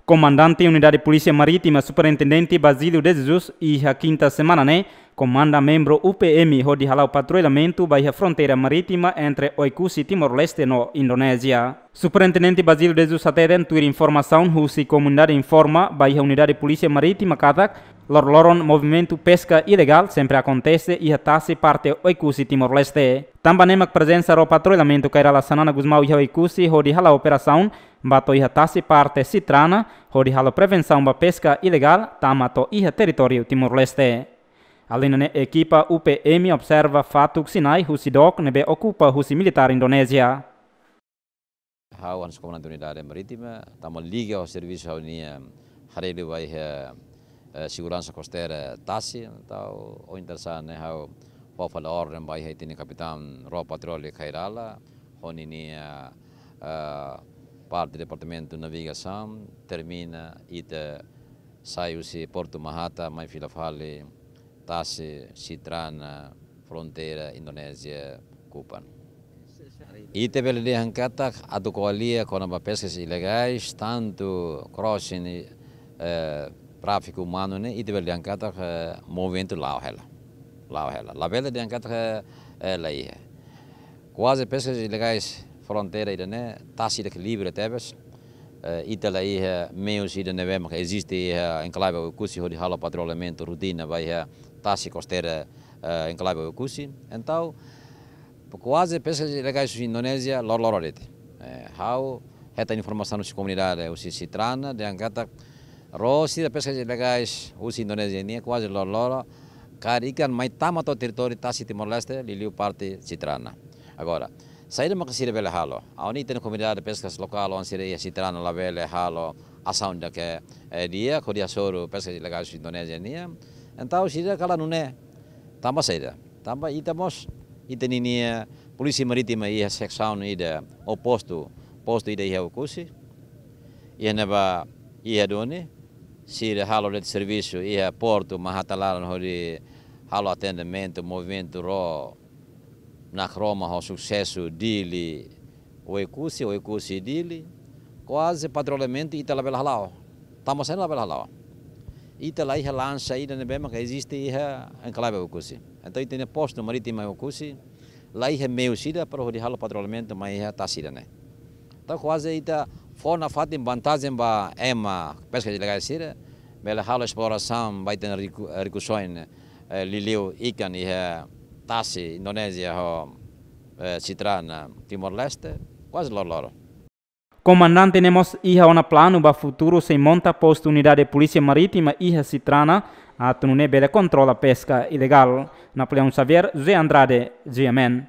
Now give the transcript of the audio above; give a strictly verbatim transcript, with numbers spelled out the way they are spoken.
Komandante Unidade Polísia Marítima, Superintendente Basílio de Jesus, iha kinta semana ne'e komanda membru U P M hodi hala'o patrullamentu ba iha fronteira marítima entre Oekusi, Timor-Leste no Indonézia. Superintendente Basílio de Jesus hateten, tuir informasaun husi komunidade informa ba iha Unidade Polísia Marítima katak loroloron movimentu peska ilegál sempre akontese iha tasi parte Oekusi, Timor-Leste. Tanba ne'e mak prezensa ró patrullamentu Kay Rala Xanana Gusmão iha Oekusi hodi hala'o operasaun ba to'o iha tasi parte Citrana, hodi halo prevensaun ba peska ilegál tama to'o iha territóriu Timor-Leste. Alin ne'e, ekipa U P M observa fatuk sinai husi dook ne'ebé okupa husi militár Indonézia. Ha'u hanesan komandante unidade marítima, tama liga ho servisu ha'u-nia haree liu ba iha, eh, seguransa kosteira tasi, entaun ohin tarde sa'e ne'e ha'u fó fali orden ba iha ita-nia kapitaun ró patrulla Kay Rala, ho ninia, eh, parte departamentu navigasaun, termina ita sai husi Portu Mahata, mai fila fali tasi Citrana, fronteira Indonézia Kupang. Ita bele dehan katak atu ko'alia kona-ba peskas ilegais, tantu crossing, eh, tráfiku umanu ne'e, ita bele dehan katak, eh, movimentu la'o hela. La'o hela. Labele dehan katak, eh, la iha. Kuaze peskas ilegais fronteira ida-ne'e, tasi ida ke livre tebes. Eh, ita la iha meius ida ne'ebé maka eziste iha enklave Oekusi hodi halo patrullamentu rotina ba iha tasi kosteira, eh, enklave Oekusi. Entaun, kuaze peskas ilegais husi Indonézia loroloron de'it. Eh, ha'u hetan informasaun husi komunidade husi Citrana, dehan katak ró sira peskas ilegais husi Indonézia nian kuaze loroloron kaer ikan mai tama to'o territóriu tasi Timor-Leste, liuliu parte Citrana. Agora, saida maka sira bele halo? Ha'u-nia ita-nia komunidade peskas lokál, oan sira iha Citrana labele halo asaun ida ke, eh, di'ak hodi hasoru peskas ilegais husi Indonézia nian. Entaun sira kala nune'e. Tanba saida? Tanba ita mós, ita ninia polísia marítima iha seksaun ida, ou postu, postu ida iha Oekusi. Iha ne'ebá, iha duni, sira halo de'it servisu iha Portu Mahata laran hodi halo atendimentu movimentu ró, nakroma ho susesu Dili Oekusi, Oekusi Dili. Kuaze patrullamentu ita labele hala'o. Tanba saida labele hala'o? Ita la iha lansa ida ne'ebé maka eziste iha enklave Oekusi. Entaun ita-nia postu marítima Oekusi la iha meius ida para hodi halo patrullamentu mai iha tasi ida-ne'e. Entaun kuaze ita fó nafatin vantajen ba ema peskas ilegais sira, bele halo esplorasaun ba ita-nia riku-, rikusoin, eh, liuliu ikan iha tasi Indonézia ho, eh, Citrana Timor-Leste, kuaze loroloron. Komandante ne'e mós iha ona planu ba futuru sei monta postu unidade polísia marítima iha Citrana, atu nune'e bele kontrola peska ilegál. Napoleão Xavier, José Andrade, G M N.